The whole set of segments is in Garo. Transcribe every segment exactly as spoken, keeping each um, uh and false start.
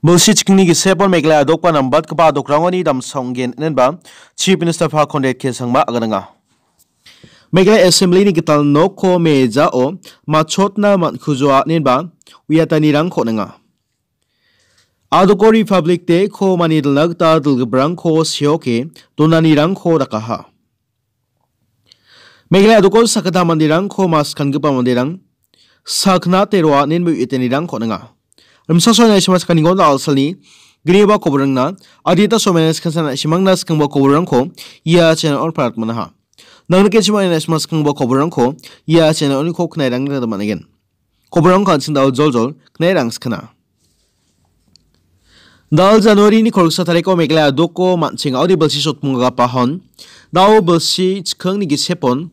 Bilsi chikingni gisepon Meghalaya adokba nambatgipa adokrangoni damsa ong·gen inenba Chief Minister Pha Conrad K Sangma agananga. Meghalaya Assembly-ni gital nokko mejao matchotna man·kujoa inenba uiatanirangko on·enga. Adoko Republic Day-ko manidilna gita dilgiprangko seoke donanirangko dakaha. Meghalaya adoko sakgittam manderangko maskangipa manderang saknate roa inenba uiatanirangko on·enga. Rimsa soina isima sakani gonda alsalni gniba koborangna adita somaina skansan isimangna skangba koborangko ia channel-o parat manaha. Nang nike chima ina isima skangba koborangko ia channel-oniko knairangna gita man·gen. Koborangko an·ching dal joljol knairang skana. Dal January-ni kolgsa tariko Meghalaya adoko man·ching audi bilsi sotmungagapahon. Dao bilsi chikingni gisepon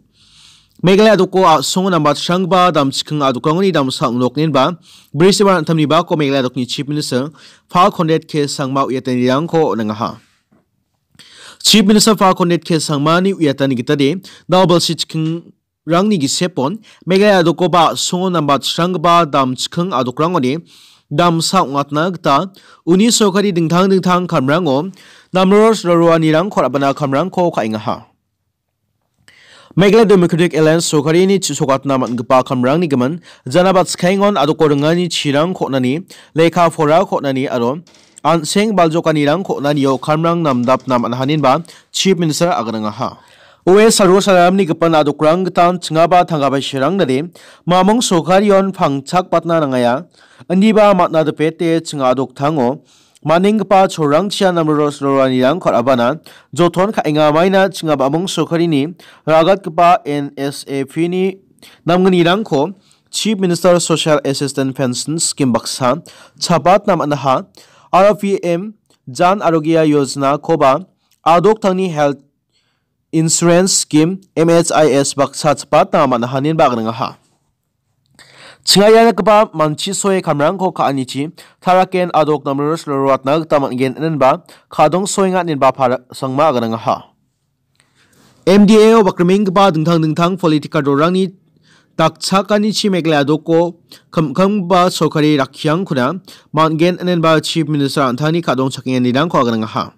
Meghalaya adoko a·songo nambatchangba damchiking adokrangoni damsa ong·noknenba brisiba an·tamni bako Meghalaya adokni Chief Minister Pha Conrad K Sangma uiatanirangko on·engaha. Chief Minister Pha Conrad K Sangmani uiatani gitade dao bilsi chiking rangni gisepon Meghalaya adokoba a·songo nambatchanggipa damchiking adokrangoni damsa ong·atna gita uni sorkari dingtang dingtang kamrango namros roroanirangko ra·bana kamrangko ka·engaha. Meghalaya Democratic Alliance sorkarini chisokatna man·gipa kamrangni gimin janabatskaengon adoko ringani chirangko on·ani, lekka porako on·ani aro an·seng baljokanirangko on·anio kamrang namdapna man·ahaninba Chief Minister aganangaha. Oe Sargo Saramni gipin adokrang gitan chingaba tanggabai sirangdade mamung sorkarion pangchakbatna nangaya, indiba matna dipete chinga adoktango manenggipa cholrangchia namros roroanirangko ra·bana joton ka·enga maina chingaba mamung sorkarini ragatgipa N S A P-ni namgnirangko Chief Minister Social Assistance Pension Scheme baksa chapatna man·aha, aro P M Jan Arogya Yojana-koba adoktangni Health Insurance Scheme, M H I S, baksa chipatna man·ahaninba aganangaha. Chingaianigipa manchisoe kamrangko ka·anichi taraken adok namros roroatna gita man·gen inenba kadongsoenga inenba para-, Sangma aganangaha. M D A-o bakrimenggipa dingtang dingtang political rorangni dakchakanichi Meghalaya adoko kim·kimgipa sorkari rakkiangkona man·gen inenba Chief Minister an·tangni kadongchakenganirangko aganangaha.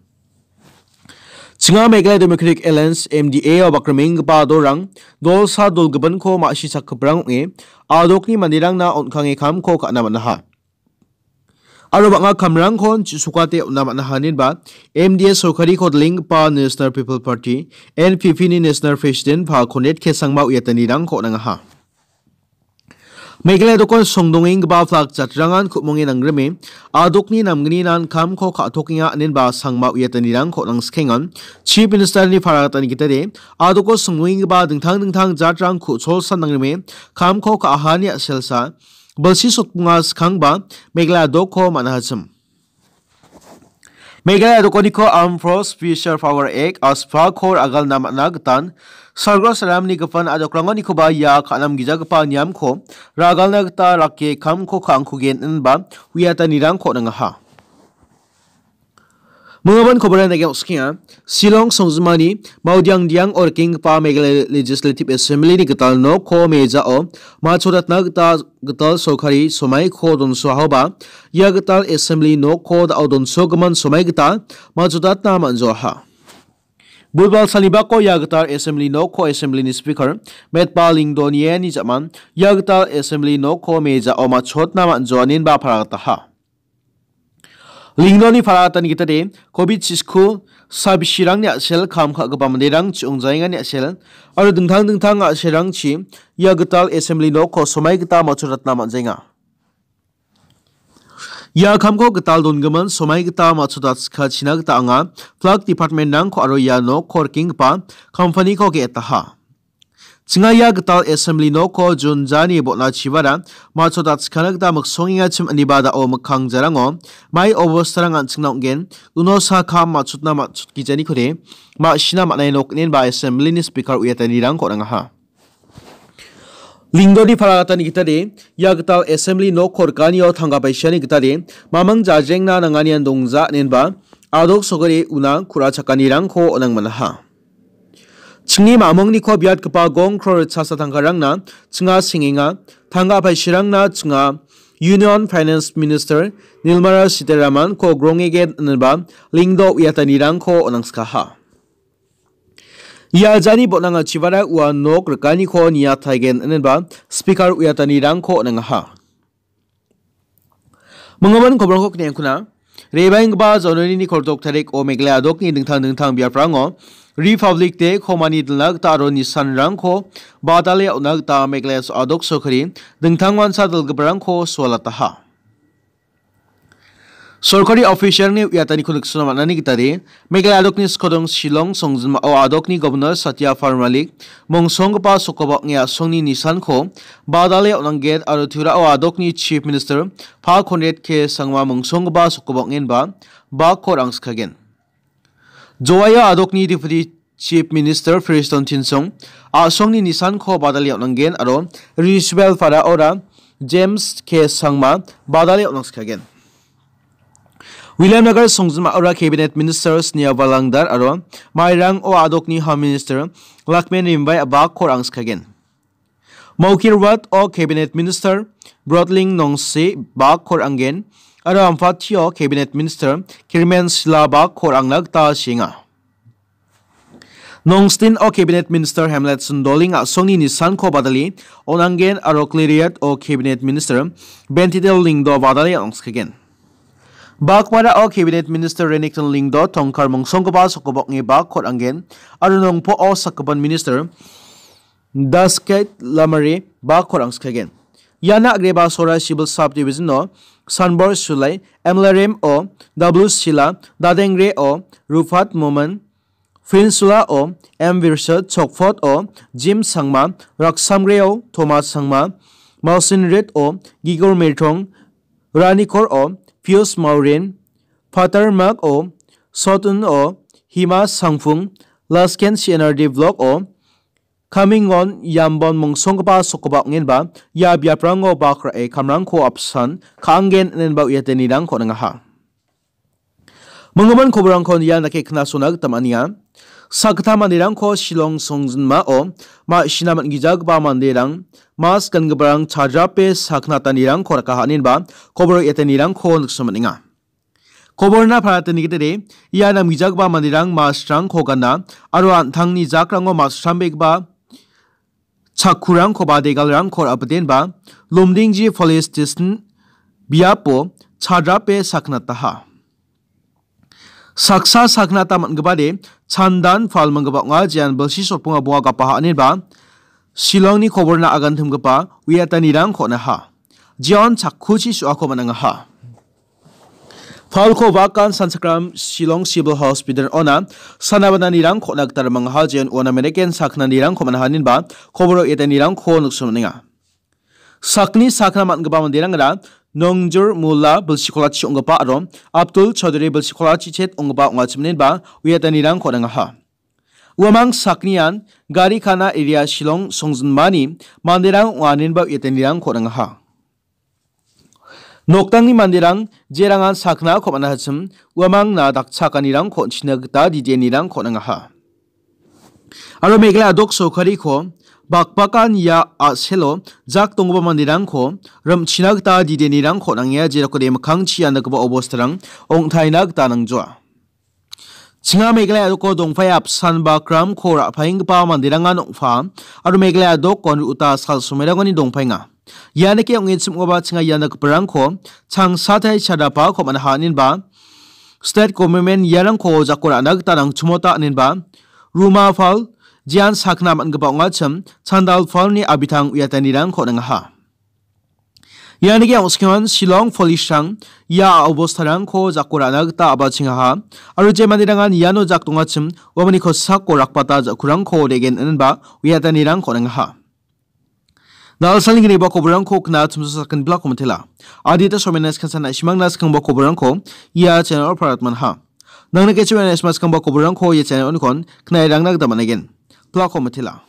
Chinga Meghalaya Democratic Alliance, M D A-o bakrimenggipa adorang dolsa dolgipinko ma·si sakgiprang ong·e adokni manderangna on·kange kamko ka·na man·aha. Aro bang·a kamrangkon chisokate on·na man·aha inenba M D A sorkariko dilenggipa National People Party, N P P-ni National President Pha Conrad K Sangma uiatanirangko on·angaha. Meghalaya adokon songdongenggipa plak jatrangan ku·monge nangrime adokni namgninan kamko ka·tokenga inenba Sangma uiatanirangko on·angsikengan Chief Minister-ni paragatani gitade adoko songdongenggipa dingtang dingtang jatrang ku·cholsan nangrime kamko ka·ahani a·selsa bilsi sotmunga skangba Meghalaya adokko man·ahachim. Meghalaya adokoniko Armed Force Special Power Act, ASPA-ko ragalna man·a gitan, Sargo Saramni gipin adokrangonikoba ia ka·namgijagipa niamko ragalna gita rake kamko ka·angkugen inenba uiatanirangko on·angaha. Mingabon koboran dake oksikenga, Shillong songjinmani Maudiangdiang-o rikenggipa Meghalaya Legislative Assembly-ni gital nokko mejao matchotatna gita gital sorkari somaiko donsoahaoba, ia gital assembly nokko da·o donsogimin somai gita matchotatna man·joaha. Budbal salnibako ia gital assembly nokko assembly-ni speaker Metbah Lyngdoh niani ja·man ia gital assembly nokko mejao matchotna man·joaninba paragataha. Lyngdohni paragatani gitade, covid chisiku sabisirangni a·sel kam ka·gipa manderang chi·ongjaengani a·sel aro dingtang dingtang a·selrangchi ia gital assembly nokko somai gita matchotatna man·jaenga. Ia kamko gital dongimin somai gita matchotatskachina gita anga flag department-rangko aro ia nokko rikenggipa company-ko ge·etaha. Chinga ia gital assembly nokko June jani bon·achibara matchotatskana gita miksongengachim ineba da·o mikkang jarango mai obostarang an·chingna ong·gen, uno sa kam matchotna matchotgijanikode ma·sina man·ai nok inenba assembly-ni speaker uiatanirangko on·angaha. Lyngdohni paragatani gitade, ia gital assembly nokko rikanio tangka paisiani gitade, mamang jajrengna nanganian dongja inenba, adok sokari una ku·ra chakanirangko on·ang man·aha. Chingni mamungni kop biatgipa gongkro ritchasa tangkarangna chinga sengenga, tangka paisirangna chinga Union Finance Minister Nirmala Sitharaman-ko grongegen ineba Lyngdoh uiatanirangko on·angskaha. Ia jani botnangachibara ua nok rikaniko niataigen ineba Speaker uiatanirangko on·angaha. Minggimin kobrangko kniengkuna. Rebaenggipa January-ni koltok tarik o Meghalaya adokni dingtang dingtang biaprango Republic Day-ko mani dilna gita aro nisanrangko badale on·na gita Meghalaya so-, adok sorkari dingtang wansa dilgiparangko sualataha. Sorkari official-ni uiataniko niksona man·ani gitade, Meghalaya adokni skodong Shillong songjinmao adokni Governor Satya Pal Malik, mongsonggipa sokobok ong·e a·songni nisanko badale on·angen aro Tripurao adokni Chief Minister Pa Conrad K Sangma mongsonggipa sokobok ong·enba bakko rangskagen. Joaio adokni Deputy Chief Minister Prestone Tynsong a·songni nisanko badale on·angen aro Riswell Faraora James K Sangma badale on·angskagen. Williamnagar songjinmaora Cabinet Minister Sneha Walangdar aro Mairang o adokni Home Minister Lakshman Rimbai bakko rangskagen. Mawkyrwat o Cabinet Minister Brotling Nongsi bakko ranggen aro Ampati o Cabinet Minister Kyrmen Shylla bakko rangna gita seenga. Nongstoin o Cabinet Minister Hamletson Doling a·songni nisanko badale on·angen aro Khliehriat o Cabinet Minister Banteedal Lyngdoh badale on·angskagen. Baghmara o Cabinet Minister Renikton Lyngdoh tongkar mongsonggipa sokobok ong·e bakko ranggen aro Nongpoh o sakgipin Minister Dasket Lamare bakko rangskagen. Iana agreba Sohra Civil Subdivision o Sanbor Sulai, M L R M o W Shylla, Dadengre o Rupat Momin, Peninsula o M Virsad, Chokphot o Jim Sangma, Raksamgre o Thomas Sangma, Mawsynrit o Gigor Meirthong, Ranikor o Pius Maureen, Phattarmarg o Sotun o Hima Sangphung, Lasken C N R D Block o Khamingon Yambon mongsonggipa sokobok ong·enba ia biaprango bak ra·e kamrangko apsan ka·angen inenba uiatanirangko on·angaha. Minggimin koborangko ian dake knasona gita man·enga. Sakgittam manderangko Shillong songjinmao ma·sina man·gijagipa manderang, mas gangiparang chadrape sakgnatanirangko rakaha inenba kobor uiatanirangko nikna man·enga. Koborna paratenigitede, ia namgijagipa manderang masrangko gana aro an·tangni jakrango masrambegipa chakkurangkoba degalrangko ra·bitenba Lumdingji Police Station biapo chadrape sakgnataha. Saksa sakgnata man·gipade chandan pal minggipa ong·a, jean bilsi sotbonga bonga gapaha ineba Shillongni koborna agantimgipa uiatanirangko on·aha. Jeon chakkuchi su·ako man·angaha. Palko wakan sanchakram Shillong Civil Hospital ona sana bananirangko on·a gita rimangaha, jeon uana mannequin sakgnanirangko man·aha inenba kobor uiatanirangko nikna man·enga. Sakni sakna man·gipa manderangara Nongjur Mulla bilsikolachi ong·gipa aro Abdul Chaudhary bilsikolachi chet ong·gipa ong·achim inenba uiatanirangko on·angaha. Uamang saknian Garikana area Shillong songjinmani manderang ong·a inenba uiatanirangko on·angaha. Nokdangni manderang jerangan saknako man·achim, uamangna dakchakanirangko on·china gita didianirangko on·angaha. Aro Meghalaya dok sorkariko bakbakan ia a·selo jak donggipa manderangko rim·china gita didianirangko on·angenga, jerokode mikkangchi ia nikgipa obostarang ong·taina gita nangjoa. Chinga Meghalaya doko dongpae apsan ba kramko ra·paenggipa manderangan ong·pa aro Meghalaya dokon ru·uta sal somerangoni dongpaenga. Ia nike ong·e chim·gipa chinga ia nikgiparangko changsatai chadapako man·aha inenba state government iarangko jako ra·na gita nangchimota inenba ruma pal jean sakna man·gipa ong·achim chandal palni abitang uiatanirangko on·angaha. Ianike ong·skengan Shillong police-rang ia obostarangko jako ra·na gita a·bachengaha aro je manderangan iano jak dongachim uamani kosako rakbata ja·kurangko de·gen inenba uiatanirangko on·angaha. Nalsalni gniba koborangko kna chimsa sakin bilako mitela. Adita somena skansan na·simangna skangba koborangko ia channel-o paratmanha. Nangni kechiwena isma skangba koborangko ia channel-onikon knairangna gita man·aigen. Bilako mitela.